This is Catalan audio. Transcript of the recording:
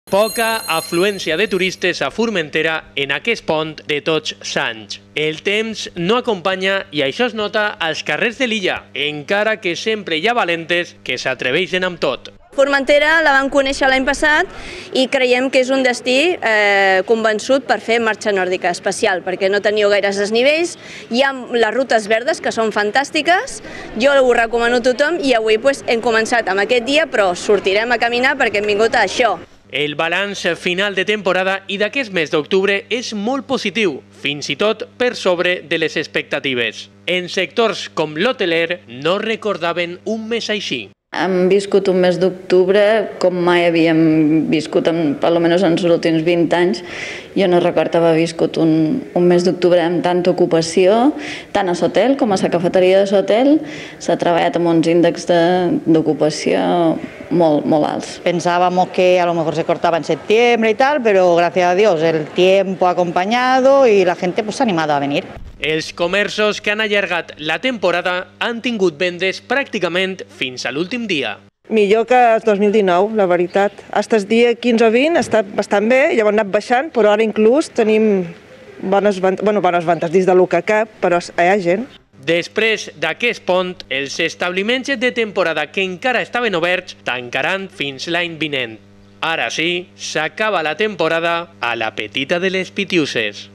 Poca afluència de turistes a Formentera en aquest pont de Tots Sants. El temps no acompanya i això es nota als carrers de l'illa, encara que sempre hi ha valentes que s'atreveixen amb tot. Formentera la vam conèixer l'any passat i creiem que és un destí convençut per fer marxa nòrdica especial, perquè no teniu gaires desnivells, hi ha les rutes verdes que són fantàstiques, jo ho recomano a tothom i avui hem començat amb aquest dia, però sortirem a caminar perquè hem vingut a això. El balanç final de temporada i d'aquest mes d'octubre és molt positiu, fins i tot per sobre de les expectatives. En sectors com l'hoteler no recordaven un mes així. Hem viscut un mes d'octubre com mai havíem viscut, almenys en els últims 20 anys. Jo no recordo haver viscut un mes d'octubre amb tanta ocupació, tant a l'hotel com a la cafeteria de l'hotel. S'ha treballat amb uns índexs d'ocupació molt alts. Pensábamos que a lo mejor se cortaba en septiembre y tal, pero gracias a Dios el tiempo ha acompañado y la gente se ha animado a venir. Els comerços que han allargat la temporada han tingut vendes pràcticament fins a l'últim dia. Millor que el 2019, la veritat. Fins el dia 15 o 20 ha estat bastant bé, llavors han anat baixant, però ara inclús tenim bones ventes dins de lo que cap, però hi ha gent. Després d'aquest pont, els establiments de temporada que encara estaven oberts tancaran fins l'any vinent. Ara sí, s'acaba la temporada a la Petita de les Pitiuses.